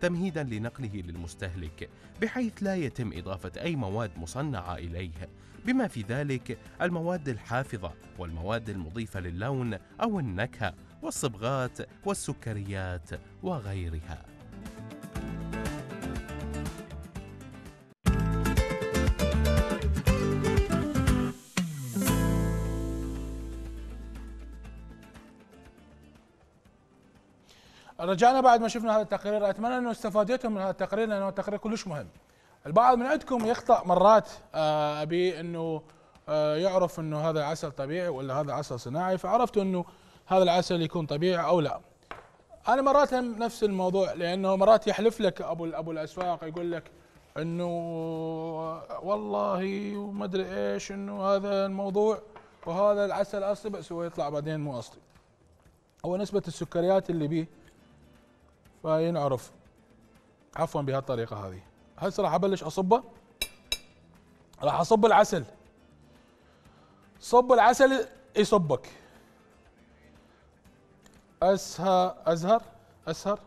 تمهيدا لنقله للمستهلك، بحيث لا يتم إضافة أي مواد مصنعة إليه، بما في ذلك المواد الحافظة والمواد المضيفة للون أو النكهة والصبغات والسكريات وغيرها. رجعنا بعد ما شفنا هذا التقرير. اتمنى انه استفادتم من هذا التقرير لانه التقرير كلش مهم. البعض من عندكم يخطأ مرات، آه ابي انه آه يعرف انه هذا عسل طبيعي ولا هذا عسل صناعي، فعرفتوا انه هذا العسل يكون طبيعي او لا. انا مرات هم نفس الموضوع، لانه مرات يحلف لك ابو ابو الاسواق يقول لك انه والله وما ادري ايش انه هذا الموضوع وهذا العسل اصلي، بس هو يطلع بعدين مو اصلي. هو نسبة السكريات اللي بيه فينعرف. عفوا بهالطريقة هذه. هسه راح ابلش اصبه. راح اصب العسل. صب العسل يصبك. اسهر ازهر اسهر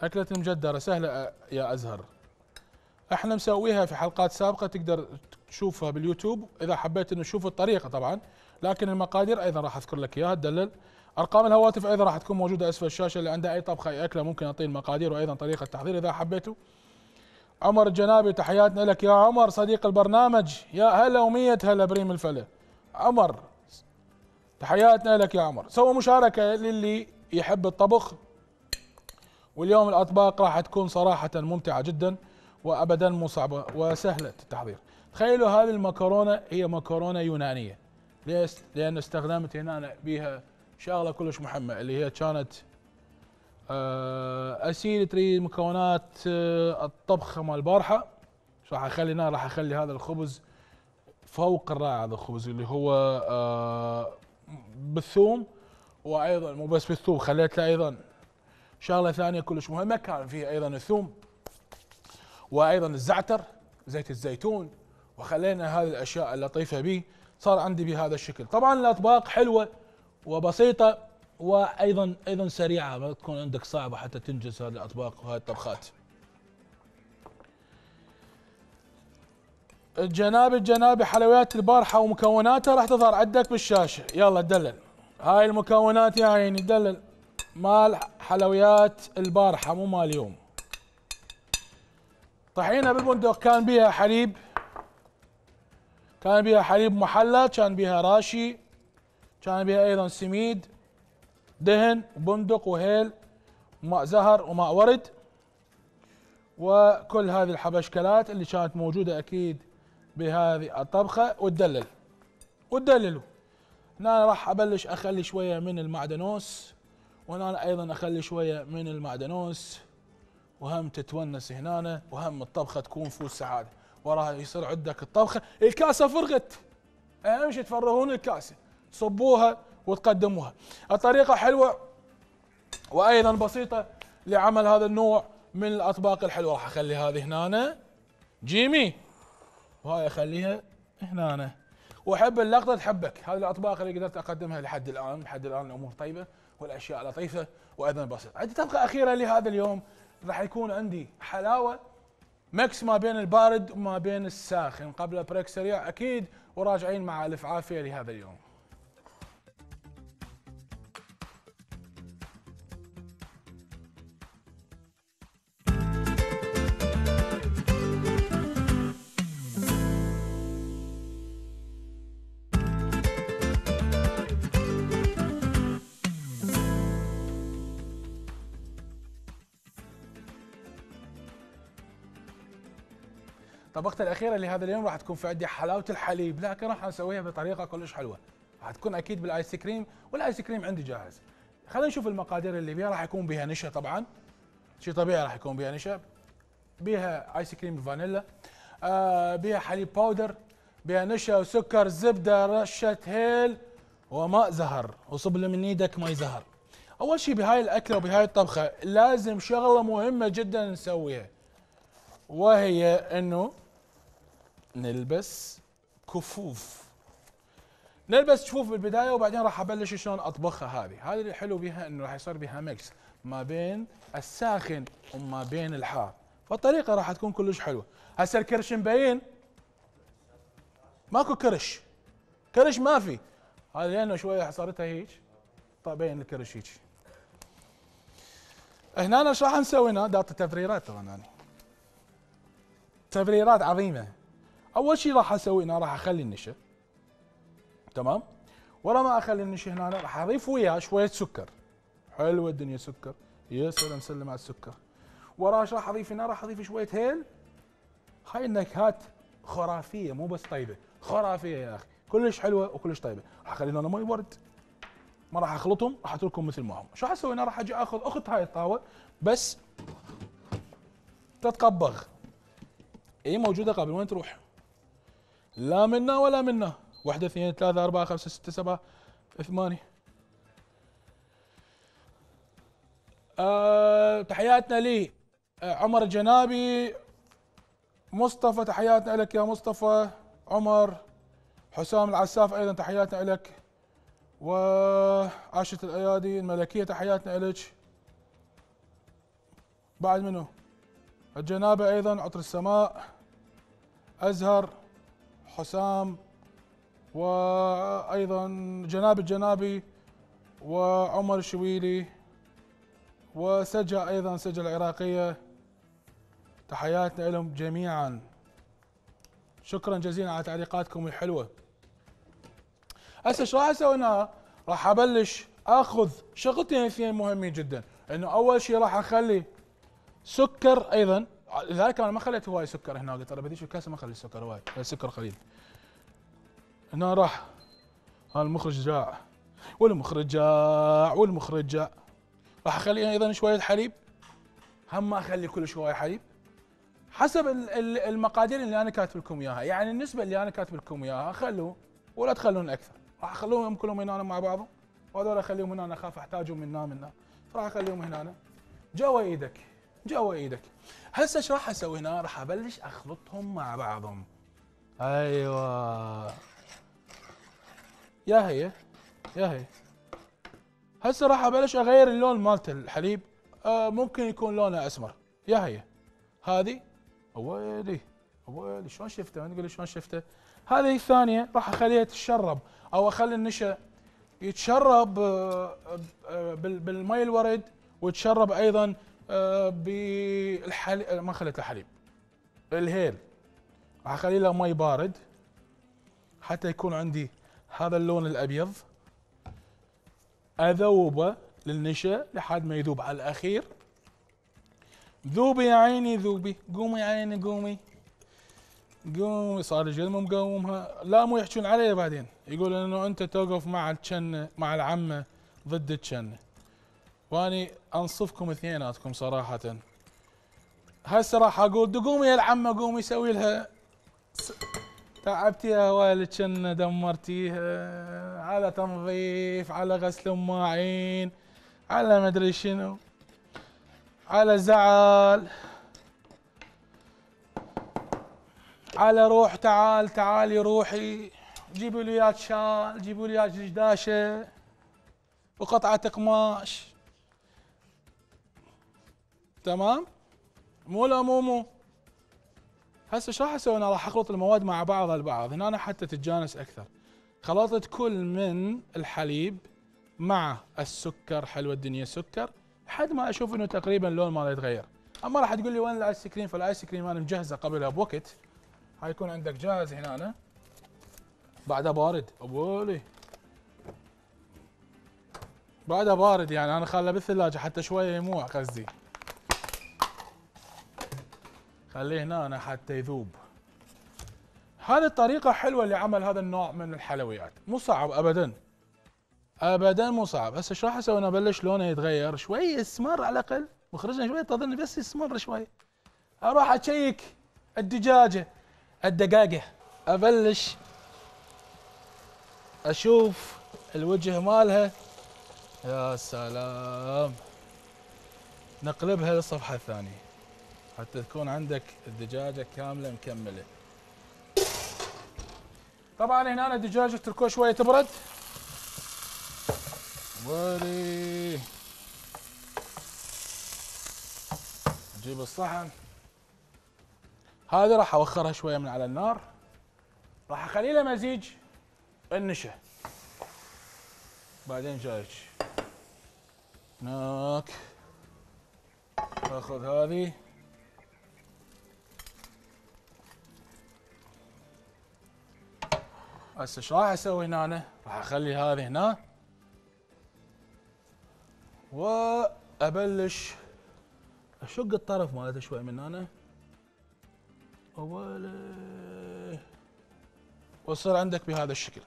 اكلة مجدرة سهلة يا ازهر. احنا مسويها في حلقات سابقة تقدر تشوفها باليوتيوب اذا حبيت انه تشوف الطريقة طبعا، لكن المقادير ايضا راح اذكر لك اياها تدلل. ارقام الهواتف ايضا راح تكون موجودة اسفل الشاشة، اللي عنده اي طبخة اي اكلة ممكن اعطيه المقادير وايضا طريقة التحضير اذا حبيتوا. عمر الجنابي تحياتنا لك يا عمر صديق البرنامج، يا هلا ومية هلا بريم الفلا. عمر تحياتنا لك يا عمر. سووا مشاركة للي يحب الطبخ، واليوم الاطباق راح تكون صراحة ممتعة جدا وابدا مو صعبة وسهلة التحضير. تخيلوا هذه المكرونة هي مكرونة يونانية. ليش؟ لان استخدمت هنا بيها شغلة كلش مهمة اللي هي كانت اسيل تريد مكونات الطبخة مال البارحة. راح اخلي هنا راح اخلي هذا الخبز فوق الرائع. هذا الخبز اللي هو بالثوم، وايضا مو بس بالثوم خليت له ايضا شغله ثانيه كلش مهمه كان فيها ايضا الثوم وايضا الزعتر زيت الزيتون، وخلينا هذه الاشياء اللطيفه به صار عندي بهذا الشكل. طبعا الاطباق حلوه وبسيطه وايضا ايضا سريعه، ما تكون عندك صعبه حتى تنجز هذه الاطباق وهذه الطبخات. الجنابي الجنابي حلويات البارحه ومكوناتها راح تظهر عندك بالشاشه. يلا دلل هاي المكونات يا عيني دلل مال حلويات البارحه مو مال اليوم. طحينه بالبندق كان بيها حليب، كان بيها حليب محلى، كان بيها راشي، كان بيها ايضا سميد دهن وبندق وهيل وماء زهر وماء ورد، وكل هذه الحبشكلات اللي كانت موجوده اكيد بهذه الطبخه. وتدلل وتدللوا. هنا راح ابلش اخلي شويه من المعدنوس، وهنا ايضا اخلي شويه من المعدنوس، وهم تتونس هنا وهم الطبخه تكون فوز سعاده. وراها يصير عندك الطبخه. الكاسه فرغت، اهم شيء تفرغون الكاسه تصبوها وتقدموها. الطريقه حلوه وايضا بسيطه لعمل هذا النوع من الاطباق الحلوه. راح اخلي هذه هنا جيمي وهاي اخليها هنا. واحب اللقطه تحبك. هذه الاطباق اللي قدرت اقدمها لحد الان، لحد الان الامور طيبه والاشياء لطيفه وايضا بسيطه. عندي طبخه اخيره لهذا اليوم، راح يكون عندي حلاوه ميكس ما بين البارد وما بين الساخن. قبل بريك سريع اكيد وراجعين مع الف عافيه لهذا اليوم. طبختي الاخيره لهذا اليوم راح تكون في عندي حلاوه الحليب، لكن راح نسويها بطريقه كلش حلوه. راح تكون اكيد بالايس كريم، والايس كريم عندي جاهز. خلينا نشوف المقادير اللي بيها. راح يكون بها نشا طبعا، شيء طبيعي راح يكون بها نشا، بها ايس كريم فانيلا، آه بها حليب باودر، بها نشا وسكر زبده رشه هيل وماء زهر. وصب له من ايدك ماء زهر. اول شيء بهاي الاكله وبهاي الطبخه لازم شغله مهمه جدا نسويها، وهي انه نلبس كفوف. نلبس كفوف بالبدايه وبعدين راح ابلش شلون اطبخها. هذه هذه الحلو بها انه راح يصير بها ميكس ما بين الساخن وما بين الحار، فالطريقه راح تكون كلش حلوه. هسه الكرش مبين؟ ماكو كرش، كرش ما في. هذا لانه شويه حصرتها هيك طيب الكرش هيك. هنا ايش راح نسوي؟ هنا داط تفريرات طبعا يعني تفريرات عظيمه. اول شيء راح اسوي هنا راح اخلي النشا تمام، ورا ما اخلي النشا هنا راح اضيف وياه شويه سكر. حلوه الدنيا سكر، يا سلام سلم على السكر. وراه ايش راح اضيف هنا؟ راح اضيف شويه هيل. هاي النكهات خرافيه مو بس طيبه، خرافيه يا اخي، كلش حلوه وكلش طيبه. راح اخلي هنا مي ورد ما راح اخلطهم، راح اتركهم مثل ما هم. شو راح اسوي هنا؟ راح اجي اخذ اخت هاي الطاوه بس تتقبغ. اي موجوده قبل، وين تروح؟ لا منا ولا منا. واحدة اثنين ثلاثة أربعة خمسة ستة سبعة ثمانية. أه تحياتنا لي أه عمر الجنابي، مصطفى تحياتنا لك يا مصطفى، عمر، حسام العساف ايضا تحياتنا لك، وعاشة الايادي الملكية تحياتنا لك. بعد منو؟ الجنابي ايضا، عطر السماء، ازهر، حسام، وايضا جناب الجنابي، وعمر الشويلي، وسجا ايضا، سجا العراقيه، تحياتنا لهم جميعا. شكرا جزيلا على تعليقاتكم الحلوه. هسه ايش راح اسوي هنا؟ راح ابلش اخذ شغلتين اثنين مهمين جدا، انه اول شيء راح اخلي سكر ايضا، لذلك انا ما خليت هواي سكر هنا، قلت انا بديش الكاسه ما اخلي السكر هواي، السكر قليل. هنا راح المخرج جاع والمخرج جاع والمخرج جاع. راح اخلي ايضا شويه حليب، هم ما اخلي كل شويه حليب، حسب المقادير اللي انا كاتب لكم اياها، يعني النسبه اللي انا كاتب لكم اياها خلوه ولا تخلون اكثر. راح اخلوهم كلهم هنا مع بعضهم، وهذول اخليهم هنا، اخاف احتاجهم من هنا من هنا، راح اخليهم هنا جوا ايدك جوا ايدك. هسه ايش راح اسوي هنا؟ راح ابلش اخلطهم مع بعضهم. ايوه يا هي يا هي. هسه راح ابلش اغير اللون مالت الحليب، آه ممكن يكون لونه اسمر. يا هي هذه، ويلي ويلي شلون شفته؟ ما تقول لي شلون شفته. هذه الثانيه راح اخليها تتشرب، او اخلي النشا يتشرب آه آه بالمي الورد، ويتشرب ايضا آه بالحليب. ما خليت الحليب، الهيل راح اخلي له مي بارد حتى يكون عندي هذا اللون الابيض. اذوبه للنشا لحد ما يذوب على الاخير. ذوبي يا عيني ذوبي، قومي يا عيني قومي قومي. صار لي جد مو مقومها، لا مو يحجون علي بعدين، يقول انه انت توقف مع الجنه مع العمه ضد الجنه، واني انصفكم اثنيناتكم صراحه. هسه راح اقول قومي يا العمه قومي سوي لها، تعبتيها والدشن دمرتيها، على تنظيف، على غسل مواعين، على مدري شنو، على زعل، على روح تعال تعالي روحي، جيبوا لي وياك شال، جيبوا لي وياك دشداشه وقطعه قماش. تمام؟ مو لا مو مو. هسه ايش راح اسوي؟ انا راح اخلط المواد مع بعضها البعض هنا أنا حتى تتجانس اكثر. خلطت كل من الحليب مع السكر، حلوه الدنيا سكر، لحد ما اشوف انه تقريبا اللون ماله يتغير. اما راح تقول لي وين الايس كريم؟ فالايس كريم انا مجهزه قبلها بوقت، حيكون عندك جاهز هنا أنا. بعدها بارد ابولي، بعدها بارد يعني انا خاله بالثلاجه حتى شويه يموع قصدي، خليه هنا أنا حتى يذوب. هذه الطريقة حلوة لعمل هذا النوع من الحلويات، مو صعب أبدا أبدا مو صعب. هسه ايش راح أسوي؟ أنا أبلش لونه يتغير شوي، يسمر على الأقل، مخرجنا شوي تظن بس يسمر شوي. أروح أشيك الدجاجة الدقاقة، أبلش أشوف الوجه مالها. يا سلام، نقلبها للصفحة الثانية حتى تكون عندك الدجاجة كاملة مكملة. طبعا هنا الدجاجة تركوه شوية تبرد. ولي اجيب الصحن هذه، راح اوخرها شوية من على النار، راح اخلي له مزيج النشا. بعدين جايك هناك اخذ هذه هسه ايش راح اسوي هنا؟ أنا راح اخلي هذه هنا وابلش اشق الطرف مالته شوي من هنا اولي، ويصير عندك بهذا الشكل.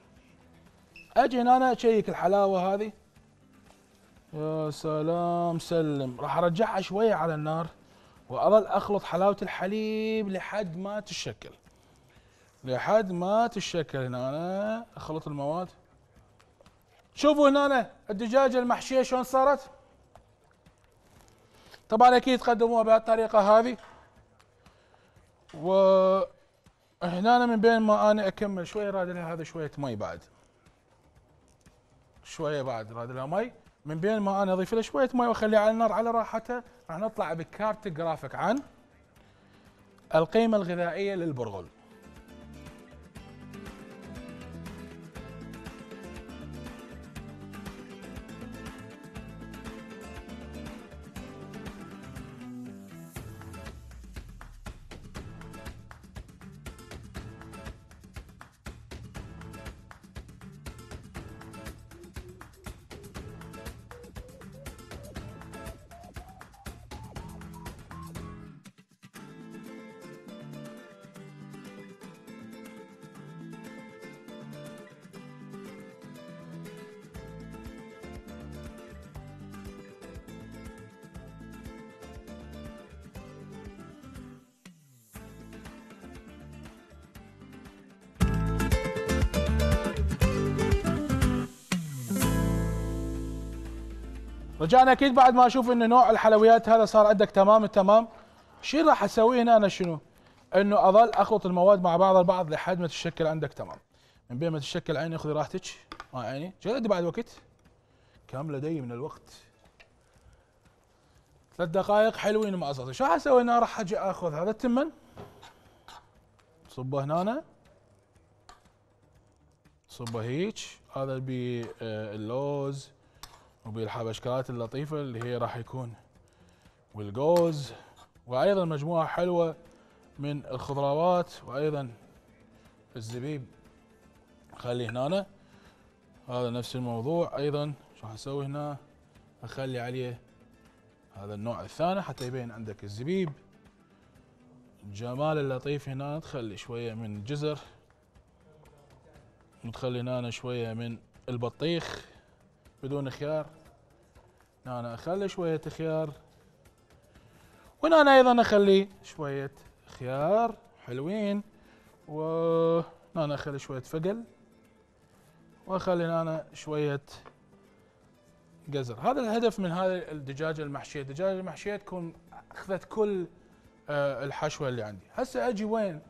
اجي هنا أنا اشيك الحلاوه هذه يا سلام سلم. راح ارجعها شويه على النار واظل اخلط حلاوه الحليب لحد ما تتشكل، لحد ما تتشكل. هنا أنا اخلط المواد. شوفوا هنا أنا الدجاجه المحشيه شلون صارت. طبعا اكيد تقدموها بهالطريقه هذه. وهنا أنا من بين ما انا اكمل شويه راد لها هذا شويه مي بعد، شويه بعد راد لها مي. من بين ما انا اضيف لها شويه مي واخليها على النار على راحتها، راح نطلع بكارت جرافيك عن القيمه الغذائيه للبرغل. رجعنا اكيد بعد ما اشوف ان نوع الحلويات هذا صار عندك تمام التمام. الشيء راح اسويه هنا انا شنو؟ انه اظل اخلط المواد مع بعض البعض لحد ما تتشكل عندك تمام. من بين ما تتشكل عيني خذي راحتك مع عيني. جد بعد وقت كم لدي من الوقت؟ ثلاث دقائق حلوين مع صوتي. شو راح اسوي هنا؟ راح اجي اخذ هذا التمن صبه هنا، صبه هيك. هذا باللوز وبالحبشكات اللطيفه اللي هي راح يكون والجوز، وايضا مجموعه حلوه من الخضروات، وايضا الزبيب خلي هنا. هذا نفس الموضوع ايضا. شو راح اسوي هنا؟ اخلي عليه هذا النوع الثاني حتى يبين عندك الزبيب. الجمال اللطيف هنا تخلي شويه من الجزر، وتخلي هنا شويه من البطيخ بدون خيار. هنا أنا اخلي شويه خيار، وهنا أنا ايضا اخلي شويه خيار حلوين، وهنا أنا اخلي شويه فقل، واخلي هنا شويه جزر. هذا الهدف من هذه الدجاجه المحشيه. الدجاجه المحشيه تكون اخذت كل آه الحشوه اللي عندي. هسه اجي وين؟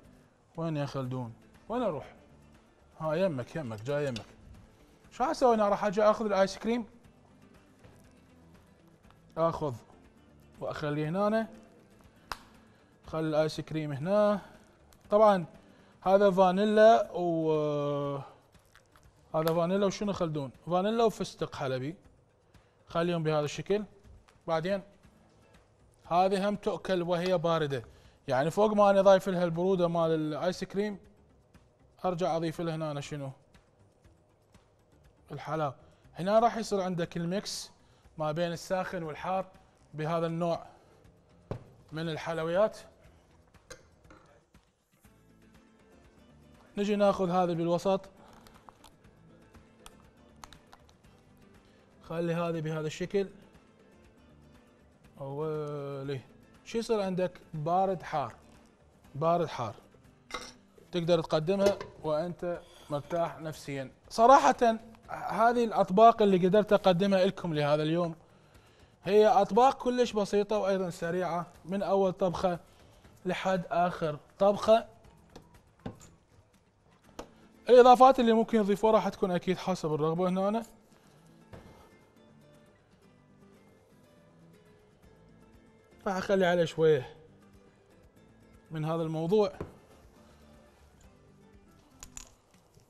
وين يا خلدون؟ وين اروح؟ ها يمك يمك جاي يمك. شو راح اسوي هنا؟ راح اجي اخذ الايس كريم، اخذ واخليه هنا. خلي الايس كريم هنا. طبعا هذا فانيلا و هذا فانيلا وشنو خلدون؟ فانيلا وفستق حلبي. خليهم بهذا الشكل. بعدين هذه هم تؤكل وهي بارده، يعني فوق ما انا ضايف لها البروده مال الايس كريم ارجع اضيف لها هنا شنو؟ الحلاوه. هنا راح يصير عندك الميكس ما بين الساخن والحار بهذا النوع من الحلويات. نجي ناخذ هذا بالوسط، خلي هذه بهذا الشكل. اولي شو يصير عندك؟ بارد حار، بارد حار. تقدر تقدمها وانت مرتاح نفسيا. صراحة هذه الاطباق اللي قدرت اقدمها لكم لهذا اليوم هي اطباق كلش بسيطة وايضا سريعة، من اول طبخة لحد اخر طبخة. الاضافات اللي ممكن يضيفوها راح تكون اكيد حسب الرغبة. هنا أنا راح اخلي عليه شوية من هذا الموضوع.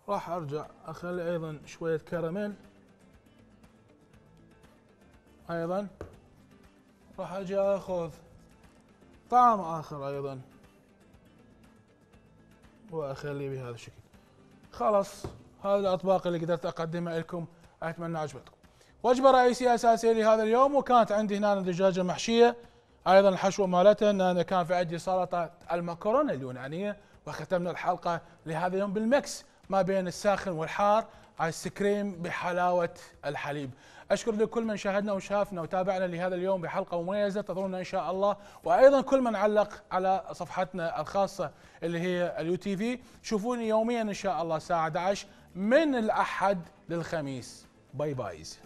راح ارجع اخلي ايضا شوية كراميل ايضا. راح اجي اخذ طعم اخر ايضا واخليه بهذا الشكل. خلاص هذه الاطباق اللي قدرت اقدمها لكم، اتمنى عجبتكم. وجبه رئيسيه اساسيه لهذا اليوم، وكانت عندي هنا دجاجه محشيه، ايضا الحشوه مالتها ان انا كان في عندي سلطه المكرونه اليونانيه، وختمنا الحلقه لهذا اليوم بالميكس ما بين الساخن والحار ايس كريم بحلاوه الحليب. اشكر لكل من شاهدنا وشافنا وتابعنا لهذا اليوم بحلقه مميزه، انتظرونا ان شاء الله، وايضا كل من علق على صفحتنا الخاصه اللي هي اليو تي في. شوفوني يوميا ان شاء الله الساعه احد عشر من الاحد للخميس. باي بايز.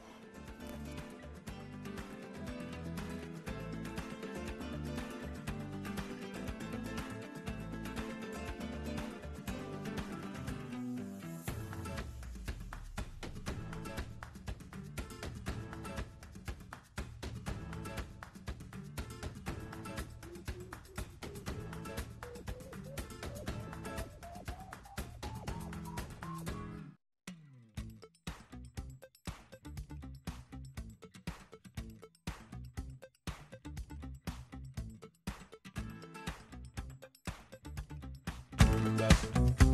Thank you.